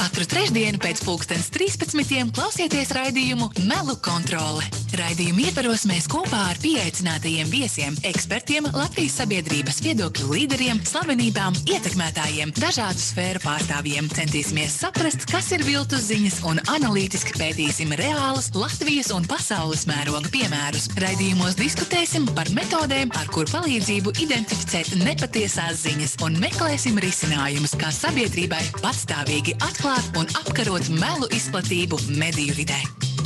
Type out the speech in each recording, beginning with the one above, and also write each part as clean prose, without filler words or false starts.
Katru trešdienu pēc 13:00 klausieties raidījumu Melu kontrole. Raidījumu ietvaros mēs kopā ar pieaicinātajiem viesiem, ekspertiem, Latvijas sabiedrības viedokļu līderiem, slavenībām, ietekmētājiem, dažādu sfēru pārstāvjiem centīsimies saprast, kas ir viltus ziņas un analītiski pētīsim reālus Latvijas un pasaules mēroga piemērus. Raidījumos diskutēsim par metodēm, ar kur palīdzību identificēt nepatiesās ziņas un meklēsim risinājumus, kā sabiedrībai patstāvīgi atklāt un apkarot melu izplatību mediju vidē.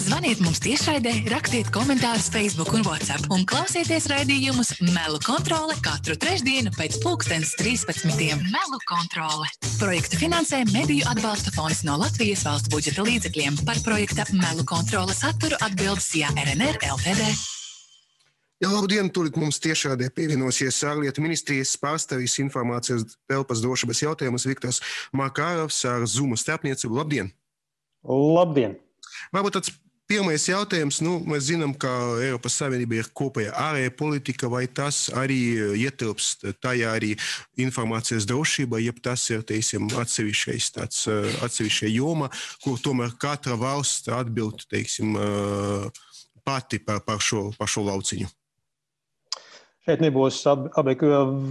Zvaniet mums tiešraidē, rakstiet komentārus Facebook un WhatsApp un klausieties raidījumus Melu kontrole katru trešdienu pēc 13:00. Melu kontrole. Projektu finansē Mediju atbalsta fonds no Latvijas valsts budžeta līdzekļiem. Par projekta Melu kontrole saturu atbildes RNR LTD. Jā, labdien, tūlīt mums tiešādē pievienosies ārlietu ministrijas pārstāvis informācijas telpas drošības jautājumus Viktors Makārovs ar Zoom starpniecību. Labdien! Labdien! Varbūt tāds pirmais jautājums, mēs zinām, ka Eiropas Savienība ir kopējā ārējā politika, vai tas arī ietilpst tajā arī informācijas drošība, jeb tas ir, teiksim, atsevišķa joma, kur tomēr katra valsts atbild, teiksim, pati par šo lauciņu? Šeit nebūs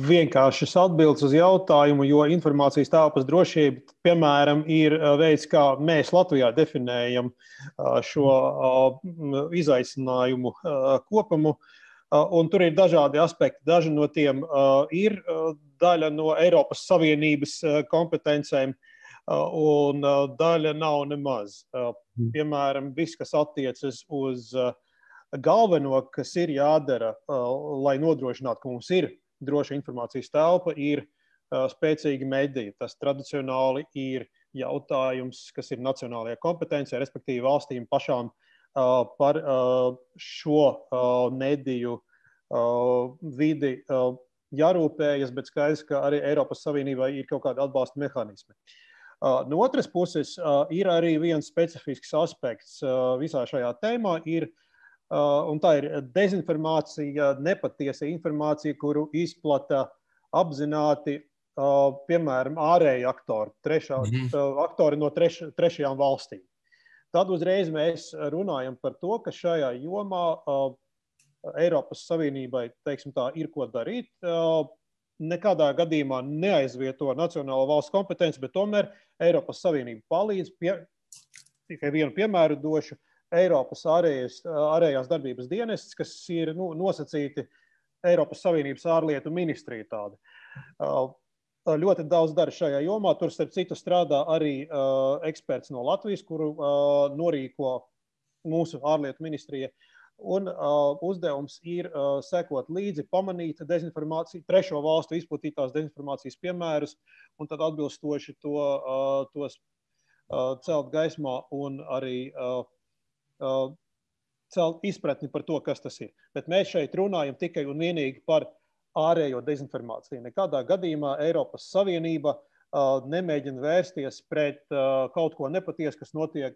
vienkāršas atbildes uz jautājumu, jo informācijas telpas drošība, piemēram, ir veids, kā mēs Latvijā definējam šo izaicinājumu kopumu. Un tur ir dažādi aspekti. Daži no tiem ir daļa no Eiropas Savienības kompetencēm, un daļa nav nemaz. Piemēram, viss, kas attiecas uz galveno, kas ir jādara, lai nodrošinātu, ka mums ir droša informācijas telpa, ir spēcīgi mediji. Tas tradicionāli ir jautājums, kas ir nacionālajā kompetencijā, respektīvi valstīm pašām par šo mediju vidi jārūpējas, bet skaidrs, ka arī Eiropas Savienībai ir kaut kādi atbalsta mehānismi. No otras puses, ir arī viens specifisks aspekts visā šajā tēmā, un tā ir dezinformācija, nepatiesa informācija, kuru izplata apzināti, piemēram, ārēji aktori, aktori no trešajām valstīm. Tad uzreiz mēs runājam par to, ka šajā jomā Eiropas Savienībai, teiksim tā, ir ko darīt. Nekādā gadījumā neaizvieto nacionālo valsts kompetenci, bet tomēr Eiropas Savienība palīdz. Tikai vienu piemēru došu. Eiropas ārējās darbības dienests, kas ir nosacīti Eiropas Savienības ārlietu ministrija tāda. Ļoti daudz dara šajā jomā. Tur, starp citu, strādā arī eksperts no Latvijas, kuru norīko mūsu ārlietu ministrija. Un uzdevums ir sekot līdzi, pamanīt dezinformāciju, trešo valstu izplatītās dezinformācijas piemērus, un tad atbilstoši tos celt gaismā un arī celt izpratni par to, kas tas ir. Bet mēs šeit runājam tikai un vienīgi par ārējo dezinformāciju. Nekādā gadījumā Eiropas Savienība nemēģina vērsties pret kaut ko nepatiesu, kas notiek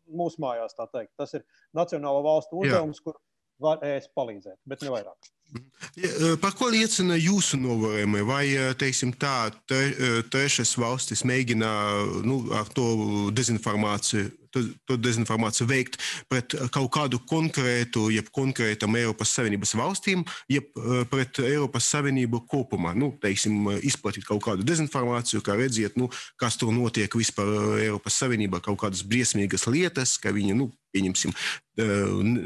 mūsu mājās, tā teikt. Tas ir nacionālo valstu uzdevums, kur var palīdzēt, bet ne vairāk. Par ko liecina jūsu novērojumi? Vai, teiksim tā, trešas valstis mēģina ar to dezinformāciju veikt pret kaut kādu konkrētu, jeb konkrētam Eiropas Savienības valstīm, jeb pret Eiropas Savienību kopumā? Teiksim, izplatīt kaut kādu dezinformāciju, kā redziet, kas tur notiek vispār Eiropas Savienībā, kaut kādas briesmīgas lietas, ka viņi, pieņemsim,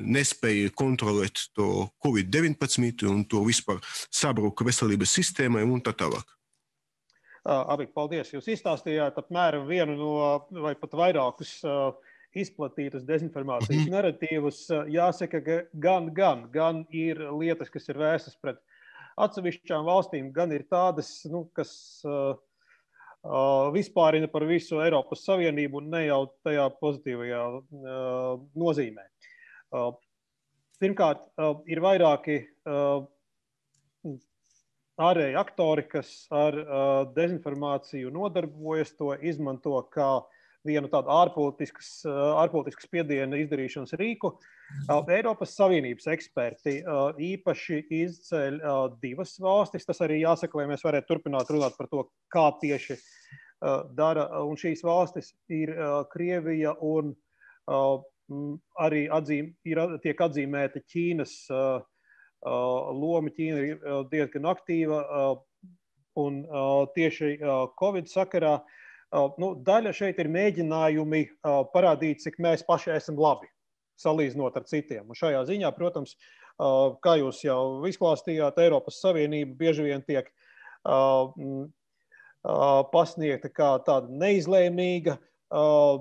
nespēja kontrolēt to Covid-19 un to vispār sabruka veselības sistēmai un tā tālāk. Abik, paldies. Jūs izstāstījāt apmēram vienu no, vai pat vairākus izplatītus dezinformācijas naratīvus. Jāsaka, ka gan ir lietas, kas ir vērstas pret atsevišķām valstīm, gan ir tādas, kas vispārina par visu Eiropas Savienību un ne jau tajā pozitīvajā nozīmē. Pirmkārt, ir vairāki ārēji aktori, kas ar dezinformāciju nodarbojas, to izmanto kā vienu tādu ārpolitisku spiedienu izdarīšanas rīku. Eiropas Savienības eksperti īpaši izceļ divas valstis. Tas arī jāsaka, lai mēs varētu turpināt runāt par to, kā tieši dara, un šīs valstis ir Krievija un arī tiek atzīmēta Ķīnas loma. Ķīna ir diezgan aktīva un tieši Covid sakarā. Daļa šeit ir mēģinājumi parādīt, cik mēs paši esam labi, salīdzinot ar citiem. Un šajā ziņā, protams, kā jūs jau izklāstījāt, Eiropas Savienība bieži vien tiek pasniegta kā tāda neizlēmīga,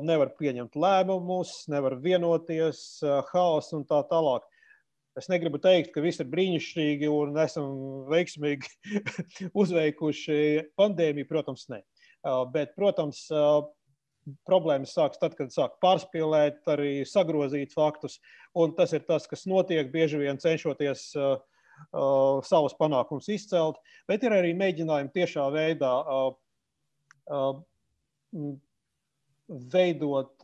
nevar pieņemt lēmumus, nevar vienoties, haoss un tā tālāk. Es negribu teikt, ka viss ir brīnišķīgi un esam veiksmīgi uzveikuši pandēmiju, protams, ne. Bet, protams, problēmas sāks tad, kad sāk pārspīlēt, arī sagrozīt faktus, un tas ir tas, kas notiek, bieži vien cenšoties savus panākumus izcelt, bet ir arī mēģinājumi tiešā veidā veidot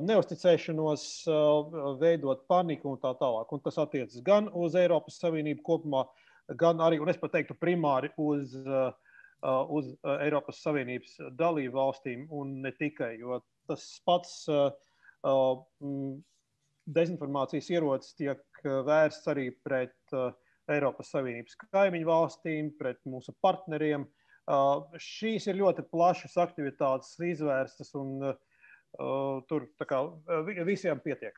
neusticēšanos, veidot paniku un tā tālāk. Un tas attiecas gan uz Eiropas Savienību kopumā, gan arī, un es pat teiktu primāri uz Eiropas Savienības dalību valstīm un ne tikai, jo tas pats dezinformācijas ierocis tiek vērsts arī pret Eiropas Savienības kaimiņu valstīm, pret mūsu partneriem. Šīs ir ļoti plašas aktivitātes izvērstas un tur tā kā visiem pietiek.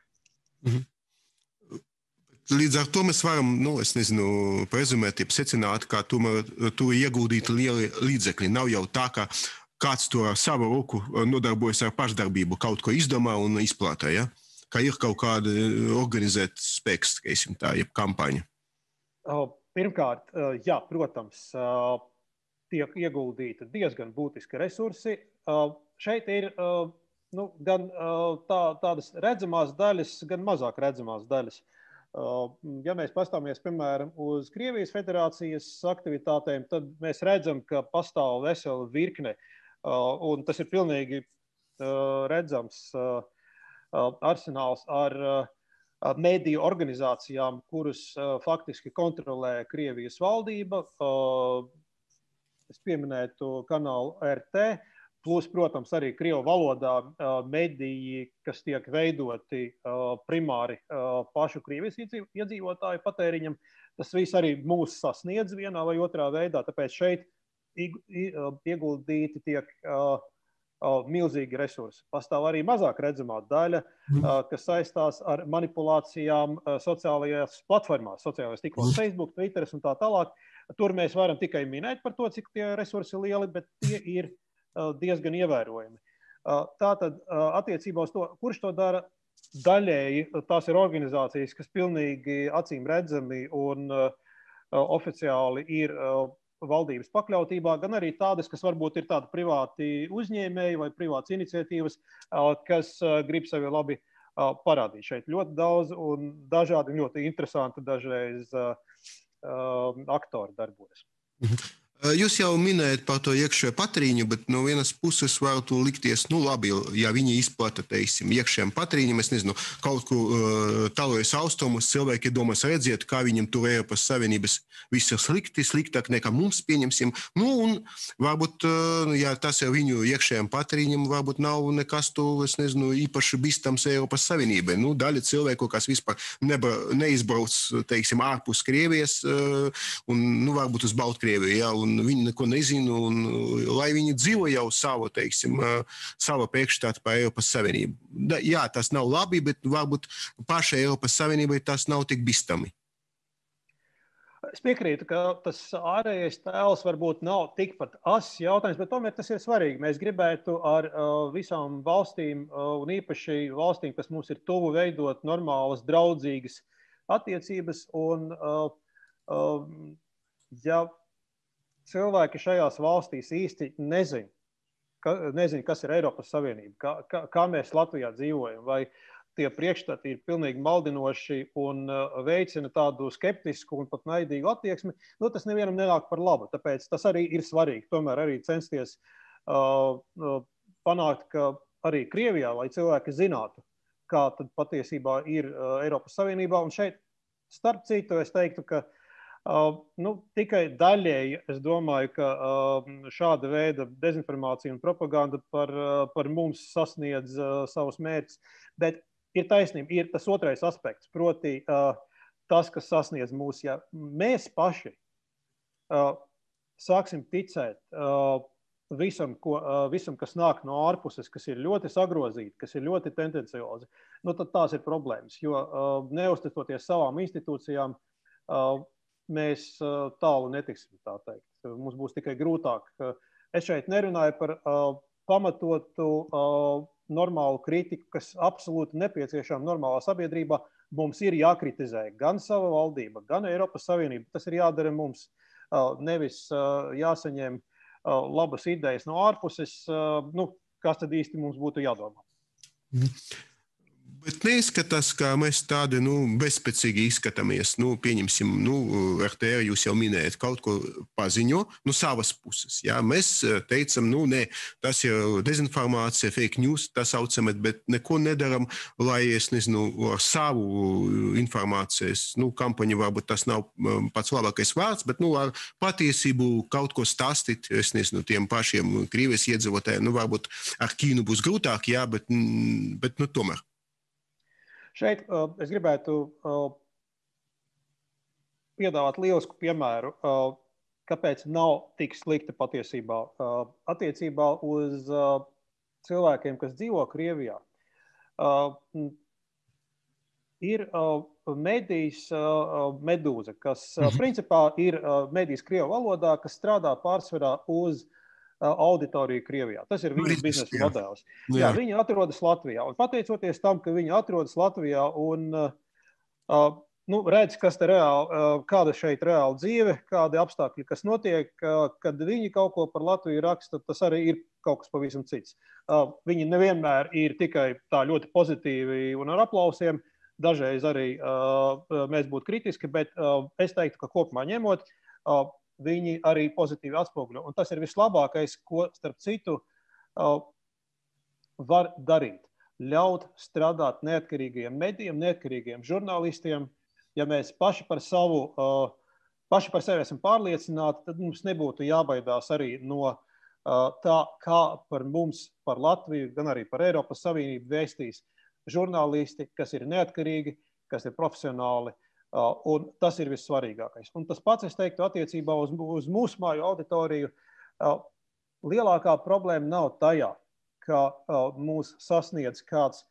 Līdz ar to mēs varam, prezumēt, secināt, ka tomēr tur ieguldīti lieli līdzekļi. Nav jau tā, ka kāds to ar savu roku nodarbojas ar pašdarbību, kaut ko izdomā un izplātā, ja? Ka ir kaut kāda organizēta spēks, jeb kampaņa. Pirmkārt, jā, protams, tiek ieguldīti diezgan būtiski resursi. Šeit ir gan tādas redzamās daļas, gan mazāk redzamās daļas. Ja mēs pastāmies, piemēram, uz Krievijas federācijas aktivitātēm, tad mēs redzam, ka pastāv vesela virkne, un tas ir pilnīgi redzams arsenāls ar mediju organizācijām, kuras faktiski kontrolē Krievijas valdība. Es pieminētu kanālu RT, plus, protams, arī krievu valodā mediji, kas tiek veidoti primāri pašu Krievijas iedzīvotāju patēriņam. Tas viss arī mūs sasniedz vienā vai otrā veidā, tāpēc šeit ieguldīti tiek milzīgi resursi. Pastāv arī mazāk redzamā daļa, kas saistās ar manipulācijām sociālajās platformās, sociālajās tīklos, Facebook, Twitter un tā tālāk. Tur mēs varam tikai minēt par to, cik tie resursi ir lieli, bet tie ir diezgan ievērojami. Tātad attiecībā uz to, kurš to dara daļēji, tās ir organizācijas, kas pilnīgi acīm redzami un oficiāli ir valdības pakļautībā, gan arī tādas, kas varbūt ir tādi privāti uzņēmēji vai privātas iniciatīvas, kas grib sevi labi parādīt. Šeit ļoti daudz un dažādi ļoti interesanti dažreiz aktori darbojas. Jūs jau minējat par to iekšējo patrīņu, bet no vienas puses varētu likties, labi, ja viņi izplata, iekšējiem patrīņiem, es nezinu, kaut kur tālojas austrumus, cilvēki domās redziet, kā viņam tur Eiropas Savienības viss ir slikti, sliktāk nekā mums pieņemsim. Un varbūt, ja tas ir viņu iekšējiem patrīņiem, varbūt nav nekas tur, es nezinu, īpaši bīstams Eiropas Savienībai. Daļa cilvēku, kas vispār neizbrauc, ārpus Krievijas un, varbūt uz Baltkrieviju, ja, un viņi neko nezina, un lai viņi dzīvo jau savu priekšstātu par Eiropas Savienību. Jā, tas nav labi, bet varbūt pašai Eiropas Savienībai tas nav tik bīstami. Es piekrītu, ka tas ārējais tēls varbūt nav tikpat ass jautājums, bet tomēr tas ir svarīgi. Mēs gribētu ar visām valstīm, un īpaši valstīm, kas mums ir tuvu, veidot normālas, draudzīgas attiecības, un ja cilvēki šajās valstīs īsti nezin, kas ir Eiropas Savienība, kā mēs Latvijā dzīvojam, vai tie priekšstati ir pilnīgi maldinoši un veicina tādu skeptisku un pat naidīgu attieksmi, tas nevienam nenāk par labu. Tāpēc tas arī ir svarīgi. Tomēr arī censties panākt, ka arī Krievijā, lai cilvēki zinātu, kā tad patiesībā ir Eiropas Savienībā. Un šeit, starp citu, es teiktu, ka Tikai daļēji es domāju, ka šāda veida dezinformācija un propaganda par mums sasniedz savus mērķus. Bet ir taisnība, ir tas otrais aspekts, proti tas, kas sasniedz mūs. Ja mēs paši sāksim ticēt visam, kas nāk no ārpuses, kas ir ļoti sagrozīti, kas ir ļoti tendenciozi, tad tās ir problēmas. Jo neuzticoties savām institūcijām, mēs tālu netiksim, tā teikt. Mums būs tikai grūtāk. Es šeit nerunāju par pamatotu normālu kritiku, kas absolūti nepieciešama normālā sabiedrībā. Mums ir jākritizē gan sava valdība, gan Eiropas Savienība. Tas ir jādara mums. Nevis jāsaņem labas idejas no ārpuses. Kas tad īsti mums būtu jādomā? Bet neizskatās, ka mēs tādi bezspēcīgi izskatāmies. Pieņemsim, RTR jūs jau minējat, kaut ko paziņo no savas puses. Jā? Mēs teicam, nē, tas ir dezinformācija, fake news, tā saucamat, bet neko nedaram, lai, es nezinu, ar savu informācijas kampaņu, varbūt tas nav pats labākais vārds, bet ar patiesību kaut ko stāstīt, es nezinu, tiem pašiem Krievijas iedzīvotājiem, varbūt ar Ķīnu būs grūtāk, jā, bet tomēr. Šeit es gribētu piedāvāt lielisku piemēru, kāpēc nav tik slikti patiesībā attiecībā uz cilvēkiem, kas dzīvo Krievijā. Ir medijs Medūza, kas principā ir medijs krievu valodā, kas strādā pārsvarā uz auditoriju Krievijā. Tas ir viņu biznesa modelis. Jā, viņi atrodas Latvijā. Un pateicoties tam, ka viņi atrodas Latvijā un redz, kāda šeit reāla dzīve, kādi apstākļi, kas notiek, kad viņi kaut ko par Latviju raksta, tas arī ir kaut kas pavisam cits. Viņi nevienmēr ir tikai tā ļoti pozitīvi un ar aplausiem. Dažreiz arī mēs būtu kritiski, bet es teiktu, ka kopumā ņemot, viņi arī pozitīvi atspoguļo. Un tas ir vislabākais, ko, starp citu, var darīt. Ļaut strādāt neatkarīgiem medijiem, neatkarīgiem žurnālistiem. Ja mēs paši par sevi esam pārliecināti, tad mums nebūtu jābaidās arī no tā, kā par mums, par Latviju, gan arī par Eiropas Savienību vēstīs žurnālisti, kas ir neatkarīgi, kas ir profesionāli. Un tas ir vissvarīgākais. Un tas pats, es teiktu, attiecībā uz mūsu māju auditoriju, lielākā problēma nav tajā, ka mūs sasniedz kāds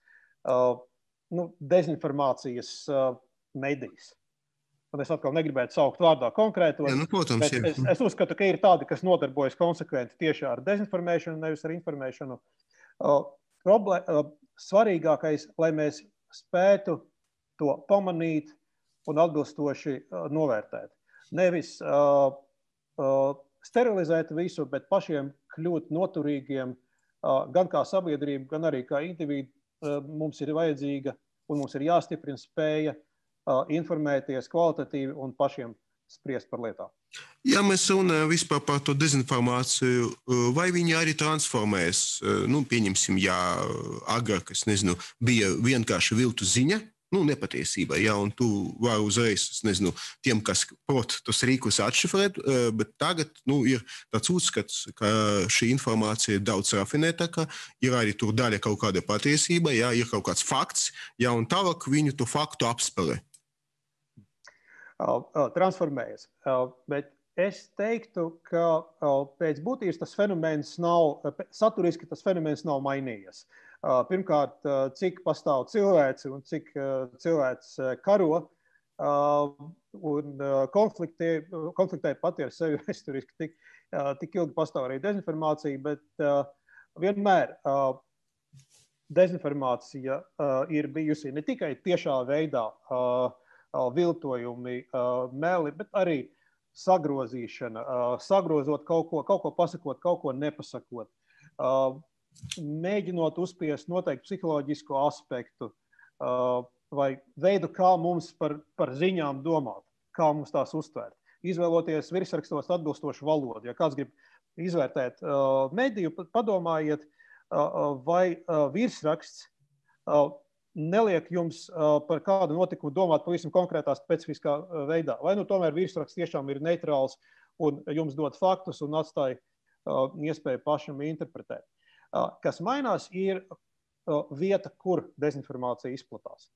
dezinformācijas medijs. Un es atkal negribētu saukt vārdā konkrētos. Protams, es uzskatu, ka ir tādi, kas nodarbojas konsekventi tieši ar dezinformēšanu, nevis ar informēšanu. Svarīgākais, lai mēs spētu to pamanīt un atbilstoši novērtēt. Nevis sterilizēt visu, bet pašiem kļūt noturīgiem gan kā sabiedrība, gan arī kā individu. Mums ir vajadzīga un mums ir jāstiprina spēja informēties kvalitatīvi un pašiem spriest par lietām. Ja mēs runājam vispār par to dezinformāciju, vai viņi arī transformējas? Pieņemsim, ja agrāk, es nezinu, bija vienkārši viltu ziņa, nepatiesība, ja, un tu vari uzreiz, es nezinu, tiem, kas prot tos rīkus atšifrēt, bet tagad, ir tāds uzskats, ka šī informācija ir daudz rafinētāka, ir arī tur daļa kaut kāda patiesība, ja, ir kaut kāds fakts, ja, un tālāk viņu to faktu apspēlē. Transformējas, bet es teiktu, ka pēc būtības tas fenomens nav, saturiski tas fenomens nav mainījies. Pirmkārt, cik pastāv cilvēci un cik cilvēks karo un konfliktē pati ar sevi vēsturiski tik ilgi pastāv arī dezinformācija, bet vienmēr dezinformācija ir bijusi ne tikai tiešā veidā viltojumi, meli, bet arī sagrozīšana, sagrozot kaut ko pasakot, kaut ko nepasakot. Mēģinot uzspiest noteikti psiholoģisko aspektu vai veidu, kā mums par ziņām domāt, kā mums tās uztvērt. Izvēloties virsrakstos atbilstošu valodu. Ja kāds grib izvērtēt mediju, padomājiet, vai virsraksts neliek jums par kādu notikumu domāt pavisam konkrētā specifiskā veidā. Vai tomēr virsraksts tiešām ir neitrāls un jums dod faktus un atstāja iespēju pašam interpretēt. Kas mainās, ir vieta, kur dezinformācija izplatās.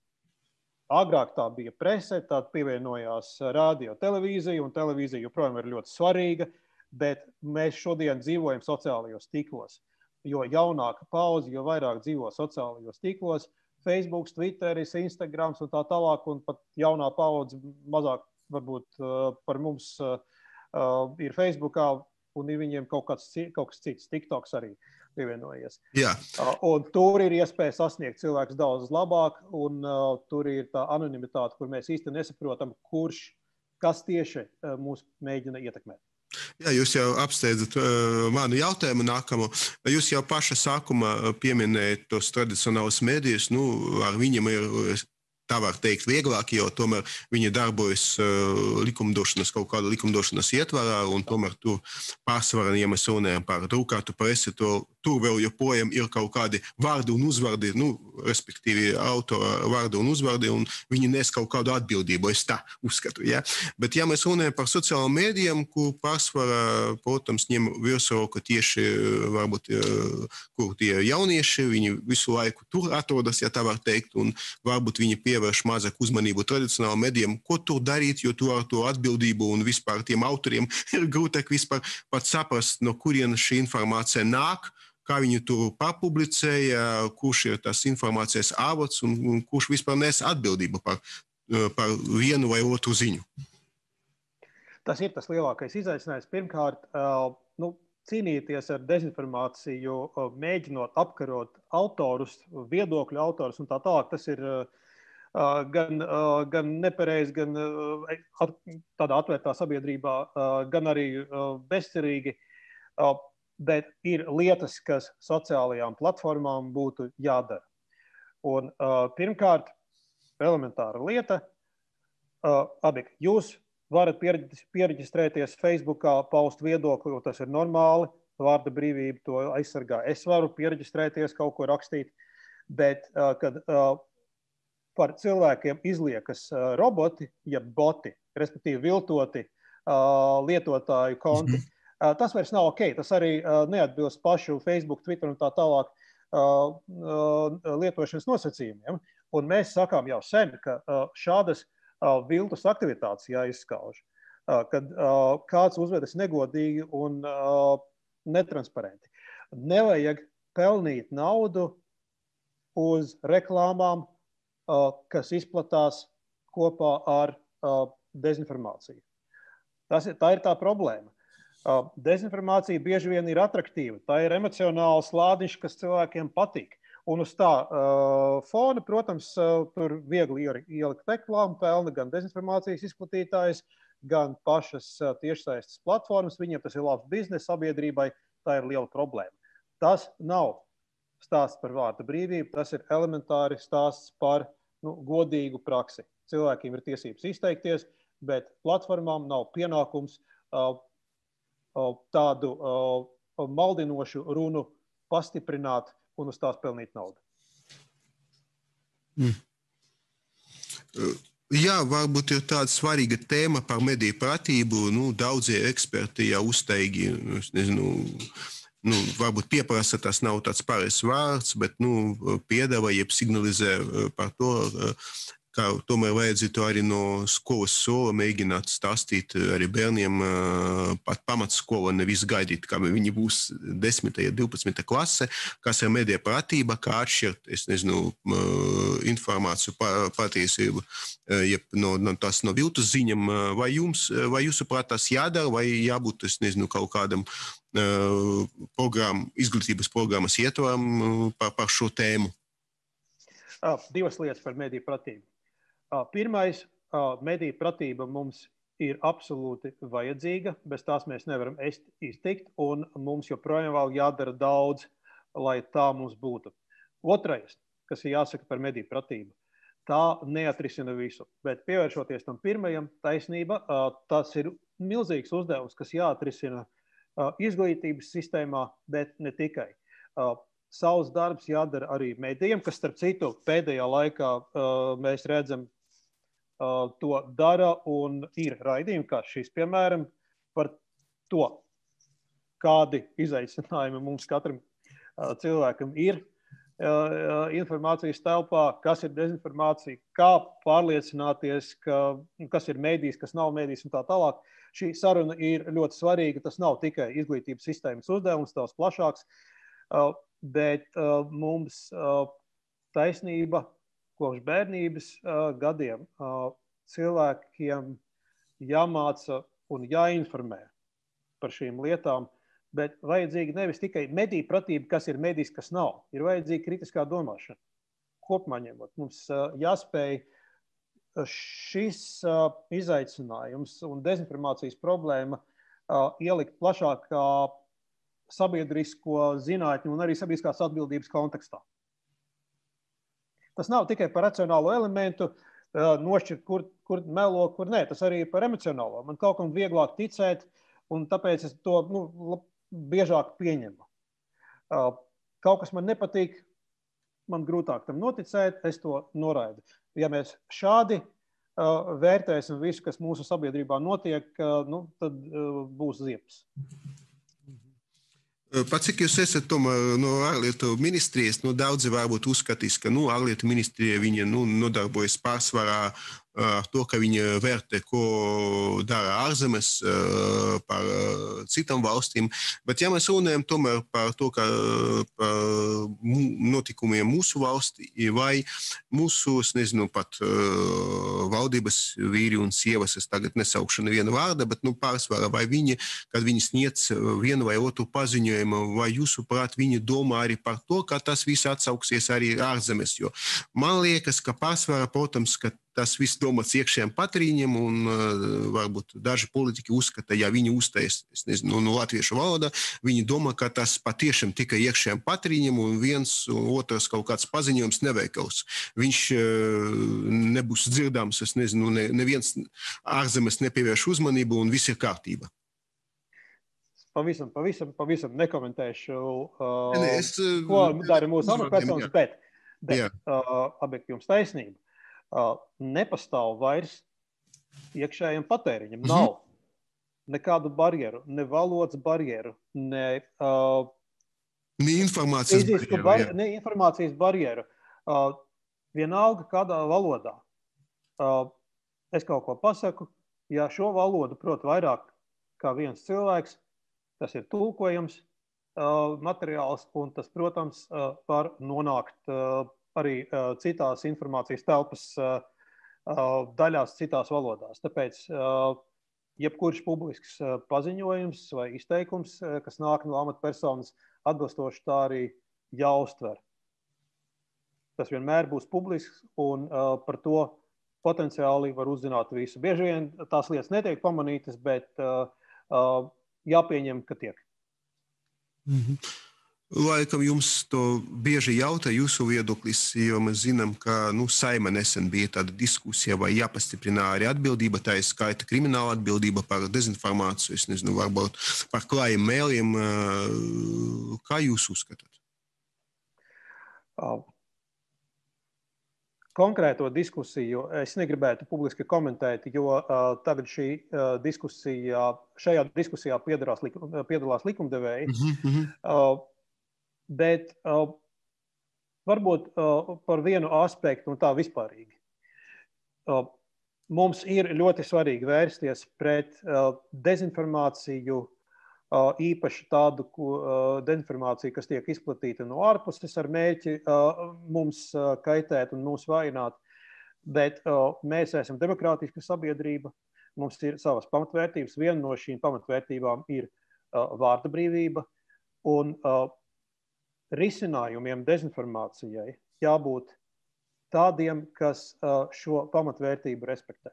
Agrāk tā bija prese, tad pievienojās radio, televīzija, un televīzija joprojām ir ļoti svarīga, bet mēs šodien dzīvojam sociālajos tīklos. Jo jaunāka paudze, jo vairāk dzīvo sociālajos tīklos, Facebook, Twitteris, Instagrams un tā tālāk, un pat jaunā paudze mazāk varbūt par mums ir Facebookā, un ir viņiem kaut kas cits, TikToks arī pievienojies. Jā. Un tur ir iespēja sasniegt cilvēkus daudz labāk, un tur ir tā anonimitāte, kur mēs īsti nesaprotam, kas tieši mūs mēģina ietekmēt. Jā, jūs jau apsteidzat manu jautājumu nākamo. Jūs jau paša sākumā pieminējat tos tradicionālus medijus. Ar viņiem ir, tā var teikt, vieglāk, jo tomēr viņi darbojas kaut kāda likumdošanas ietvarā, un tomēr tur pārsvarā, ja mēs runājam par drukātu presi, tur vēl joprojām ir kaut kādi vārdi un uzvārdi, respektīvi autora vārdi un uzvārdi, un viņi nes kaut kādu atbildību, es tā uzskatu. Ja? Bet ja mēs runājam par sociālajiem mēdījiem, kur pārsvarā, protams, ņem virsroku tieši, varbūt, kur tie jaunieši, viņi visu laiku tur atrodas, ja tā var teikt, un varbūt viņi pievērš mazāk uzmanību tradicionālajiem mēdījiem, ko tur darīt, jo tur ar to atbildību un vispār tiem autoriem ir grūtāk vispār pat saprast, no kurienes šī informācija nāk, kā viņi tur papublicēja, kurš ir tas informācijas avots un kurš vispār nes atbildību par vienu vai otru ziņu. Tas ir tas lielākais izaicinājums. Pirmkārt, cīnīties ar dezinformāciju, mēģinot apkarot autorus, viedokļu autorus un tā tālāk, tas ir gan nepareizi, gan tādā atvērtā sabiedrībā, gan arī bezcerīgi. Bet ir lietas, kas sociālajām platformām būtu jādara. Un pirmkārt, elementāra lieta, jūs varat piereģistrēties Facebookā, paust viedokli, jo tas ir normāli, vārda brīvība to aizsargā. Es varu piereģistrēties, kaut ko rakstīt, bet kad par cilvēkiem izliekas roboti, ja boti, respektīvi viltoti lietotāju konti, tas vairs nav ok. Tas arī neatbilst pašu Facebook, Twitter un tā tālāk lietošanas nosacījumiem. Un mēs sakām jau sen, ka šādas viltus aktivitātes jāizskauž, kad kāds uzvedas negodīgi un netransparenti. Nevajag pelnīt naudu uz reklāmām, kas izplatās kopā ar dezinformāciju. Tā ir tā problēma. Dezinformācija bieži vien ir atraktīva. Tā ir emocionāls lādiņš, kas cilvēkiem patīk. Un uz tā fona, protams, tur viegli ielikt reklāmu, pelna gan dezinformācijas izplatītājs, gan pašas tiešsaistes platformas. Viņiem tas ir labs bizness, sabiedrībai tā ir liela problēma. Tas nav stāsts par vārda brīvību, tas ir elementāri stāsts par godīgu praksi. Cilvēkiem ir tiesības izteikties, bet platformām nav pienākums tādu maldinošu runu pastiprināt un uz tās pelnīt naudu. Jā, varbūt ir tāda svarīga tēma par mediju pratību. Daudzie eksperti jau uzteigi, varbūt pieprasa, tas nav tāds pareizs vārds, bet piedāvā, jeb signalizē par to, ka tomēr vajadzētu arī no skolas sola mēģināt stāstīt arī bērniem pat pamatskola, nevis gaidīt, kā viņi būs 10. ja 12. klase, kas ir medija pratība, kā atšķirt, informāciju patiesību, tas no viltus ziņam, vai jūsuprāt tas jādara, vai jābūt, kaut kādam izglītības programmas ietvaram par šo tēmu? Divas lietas par mediju pratību. Pirmais, mediju pratība mums ir absolūti vajadzīga, bez tās mēs nevaram iztikt, un mums joprojām vēl jādara daudz, lai tā mums būtu. Otrais, kas ir jāsaka par mediju pratību, tā neatrisina visu, bet pievēršoties tam pirmajam, taisnība, tas ir milzīgs uzdevums, kas jāatrisina izglītības sistēmā, bet ne tikai. savs darbs jādara arī medijiem, kas, starp citu, pēdējā laikā mēs redzam, to dara un ir raidījumi, kā šis, piemēram, par to, kādi izaicinājumi mums katram cilvēkam ir informācijas telpā, kas ir dezinformācija, kā pārliecināties, kas ir mēdījis, kas nav mēdījis un tā tālāk. Šī saruna ir ļoti svarīga. Tas nav tikai izglītības sistēmas uzdevums, daudz plašāks, bet mums taisnība kopš bērnības gadiem cilvēkiem jāmāca un jāinformē par šīm lietām, bet vajadzīga nevis tikai mediju pratība, kas ir medijs, kas nav. Ir vajadzīga kritiskā domāšana. Kopumā ņemot, mums jāspēj šis izaicinājums un dezinformācijas problēma ielikt plašākā sabiedrisko zinātņu un arī sabiedriskās atbildības kontekstā. Tas nav tikai par racionālo elementu, nošķirt, kur melo, kur nē. Tas arī par emocionālo. Man kaut kam vieglāk ticēt, un tāpēc es to biežāk pieņemu. Kaut kas man nepatīk, man grūtāk tam noticēt, es to noraidu. Ja mēs šādi vērtēsim visu, kas mūsu sabiedrībā notiek, tad būs ziepes. Pat cik jūs esat tomēr no ārlietu ministrijas, daudzi varbūt uzskatīs, ka ārlietu ministrija viņa nodarbojas pārsvarā ar to, ka viņi vērtē, ko dara ārzemes par citām valstīm. Bet ja mēs runājam tomēr par to, ka par notikumiem mūsu valstī vai mūsu, es nezinu, pat valdības vīri un sievas, es tagad nesaukšu nevienu vārdu, bet pārsvarā vai viņi, kad viņi sniedz vienu vai otru paziņojumu, vai jūsuprāt viņi domā arī par to, ka tas viss atsauksies arī ārzemes, jo man liekas, ka pārsvarā, protams, ka tas viss domāts iekšējiem patrīņiem, un varbūt daži politiķi uzskata, ja viņi uztais, es nezinu, latviešu valodā, viņi domā, ka tas patiešām tikai iekšējiem patrīņiem, un viens otrs kaut kāds paziņojums neveikals. Viņš nebūs dzirdams, es nezinu, neviens ārzemes nepievērš uzmanību, un viss ir kārtība. Pavisam nekomentēšu, ko dara mūsu amatpersonas, bet objektīvums taisnība. Nepastāv vairs iekšējiem patēriņam. Nav nekādu barjeru, ne valodas barjeru, ne informācijas barjeru. Vienalga kādā valodā. Es kaut ko pasaku, ja šo valodu prot vairāk kā viens cilvēks, tas ir tulkojams materiāls, un tas, protams, var nonākt arī citās informācijas telpas daļās, citās valodās. Tāpēc jebkurš publisks paziņojums vai izteikums, kas nāk no amatpersonas, atbilstoši tā arī jāuztver. Tas vienmēr būs publisks, un par to potenciāli var uzzināt visu. Bieži vien tās lietas netiek pamanītas, bet jāpieņem, ka tiek. Laikam jums to bieži jautā jūsu viedoklis, jo mēs zinām, ka Saeima nesen bija tāda diskusija, vai jāpastiprina arī atbildība, tā ir skaita krimināla atbildība par dezinformāciju, es nezinu, varbūt par klājiem mēliem. Kā jūs uzskatāt? Konkrēto diskusiju es negribētu publiski komentēt, jo tagad šajā diskusijā piedalās likumdevēji. Bet varbūt par vienu aspektu un tā vispārīgi. Mums ir ļoti svarīgi vērsties pret dezinformāciju, īpaši tādu dezinformāciju, kas tiek izplatīta no ārpuses ar mērķi mums kaitēt un mūs vājināt. Bet mēs esam demokrātiska sabiedrība, mums ir savas pamatvērtības. Viena no šīm pamatvērtībām ir vārda brīvība, un risinājumiem dezinformācijai jābūt tādiem, kas šo pamatvērtību respektē.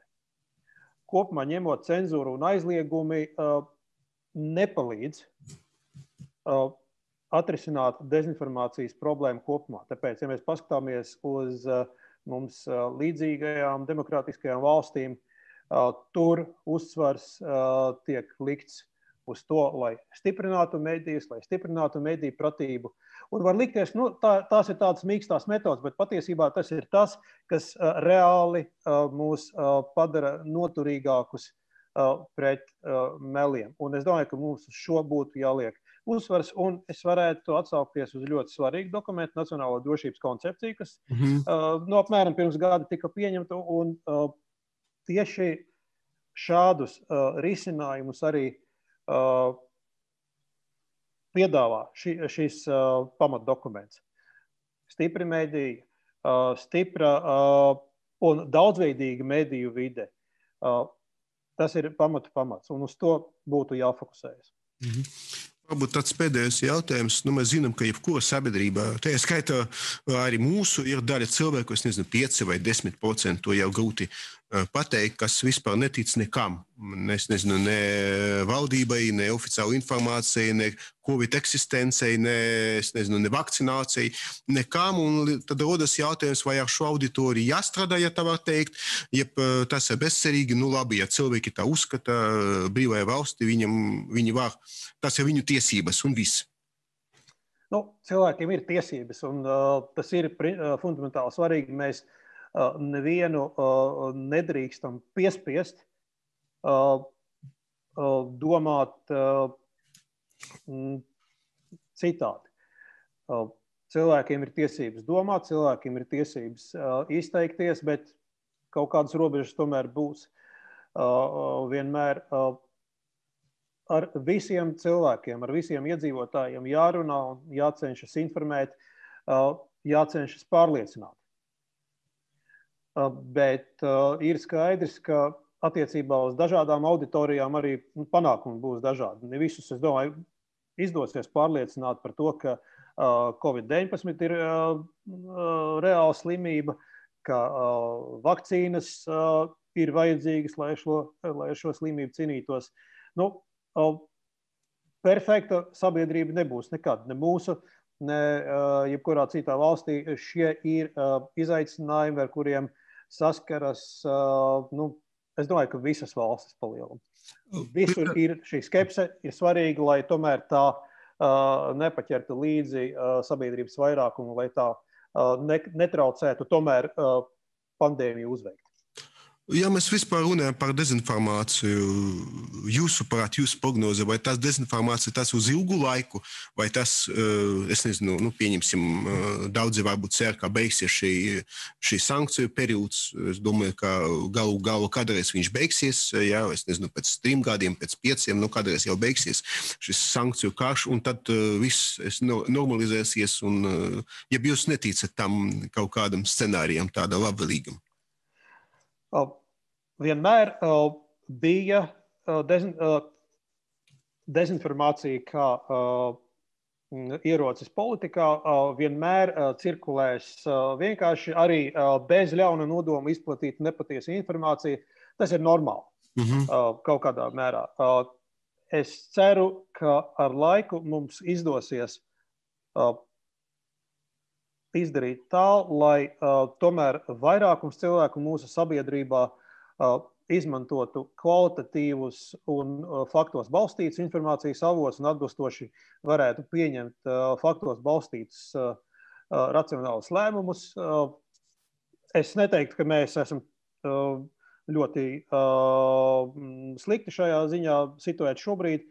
Kopumā ņemot cenzūru un aizliegumi nepalīdz atrisināt dezinformācijas problēmu kopumā. Tāpēc, ja mēs paskatāmies uz mums līdzīgajām demokrātiskajām valstīm, tur uzsvars tiek likts uz to, lai stiprinātu medijas, lai stiprinātu mediju pratību. Un var likties, tās ir tādas mīkstās metodas, bet patiesībā tas ir tas, kas reāli mūs padara noturīgākus pret meliem. Un es domāju, ka mums uz šo būtu jāliek uzsvars, un es varētu atsaukties uz ļoti svarīgu dokumentu, Nacionālo drošības koncepciju, kas apmēram pirms gada tika pieņemta, un tieši šādus risinājumus arī piedāvā šis pamatdokuments. Stipri mediji, stipra un daudzveidīga mediju vide. Tas ir pamats, un uz to būtu jāfokusējas. Varbūt tāds pēdējais jautājums. Mēs zinām, ka jebkura sabiedrībā, tā skaitā arī mūsu, ir daļa cilvēku, es nezinu, 5 vai 10%, to jau grūti pateikt, kas vispār netic nekam. Es nezinu, ne valdībai, ne oficiālu informācijai, ne Covid eksistencei, ne vakcinācijai, nekam. Un tad rodas jautājums, vai ar šo auditoriju jāstrādā, ja tā var teikt, jeb tas ir bezcerīgi. Labi, ja cilvēki tā uzskata, brīvajā valstī, viņi var, tas ir viņu tiesības un viss. Cilvēkiem ir tiesības, un tas ir fundamentāli svarīgi. Mēs nevienu nedrīkstam piespiest domāt citādi. Cilvēkiem ir tiesības domāt, cilvēkiem ir tiesības izteikties, bet kaut kādas robežas tomēr būs. Vienmēr ar visiem cilvēkiem, ar visiem iedzīvotājiem jārunā un jācenšas informēt, jācenšas pārliecināt. Bet ir skaidrs, ka attiecībā uz dažādām auditorijām arī panākumi būs dažādi. Ne visus, es domāju, izdosies pārliecināt par to, ka Covid-19 ir reāla slimība, ka vakcīnas ir vajadzīgas, lai šo slimību cīnītos. Perfekta sabiedrība nebūs nekad, ne mūsu, ne jebkurā citā valstī. Šie ir izaicinājumi, ar kuriem saskaras, es domāju, ka visas valstis palielam. Visur ir šī skepse, ir svarīgi, lai tomēr tā nepaķertu līdzi sabiedrības vairākumu, lai tā netraucētu tomēr pandēmiju uzveikt. Ja mēs vispār runājam par dezinformāciju, jūsuprāt, jūsu prognoze, vai tas dezinformācija tas uz ilgu laiku, vai tas, es nezinu, pieņemsim, daudzi varbūt cer, ka beigsies šī sankciju periods. Es domāju, ka galu kādreiz viņš beigsies, jā, es nezinu, pēc 3 gadiem, pēc 5, kādreiz jau beigsies šis sankciju karš, un tad viss normalizēsies, un ja jūs neticat tam kaut kādam scenārijam, tāda labvēlīgam. Vienmēr bija dezinformācija kā ierocis politikā, vienmēr cirkulēs vienkārši arī bez ļauna nodoma izplatīt nepatiesu informāciju. Tas ir normāli kaut kādā mērā. Es ceru, ka ar laiku mums izdosies izdarīt tā, lai tomēr vairākums cilvēku mūsu sabiedrībā izmantotu kvalitatīvus un faktos balstītus informācijas avotus un atbilstoši varētu pieņemt faktos balstītus racionālus lēmumus. Es neteiktu, ka mēs esam ļoti slikti šajā ziņā situēti šobrīd.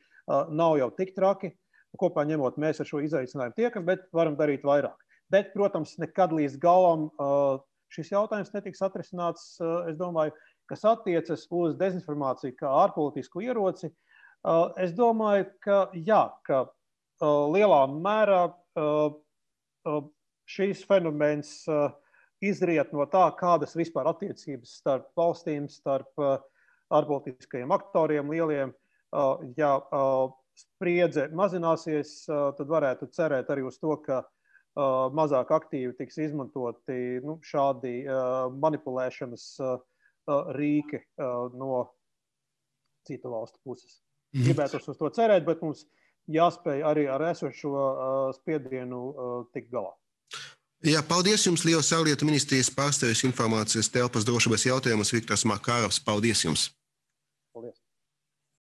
Nav jau tik traki. Kopā ņemot, mēs ar šo izaicinājumu tiekam, bet varam darīt vairāk. Bet, protams, nekad līdz galam šis jautājums netiks atrisināts, es domāju, kas attiecas uz dezinformāciju kā ārpolitisku ieroci. Es domāju, ka jā, ka lielā mērā šīs fenomens izriet no tā, kādas vispār attiecības starp valstīm, starp ārpolitiskajiem aktoriem lieliem. Ja spriedze mazināsies, tad varētu cerēt arī uz to, ka mazāk aktīvi tiks izmantoti šādi manipulēšanas rīki no citu valstu puses. Gribētos uz to cerēt, bet mums jāspēj arī ar esošo spiedienu tikt galā. Jā, paldies jums, liels ārlietu ministrijas pārstāvis informācijas telpas drošības jautājumos Viktors Makārovs. Paldies jums!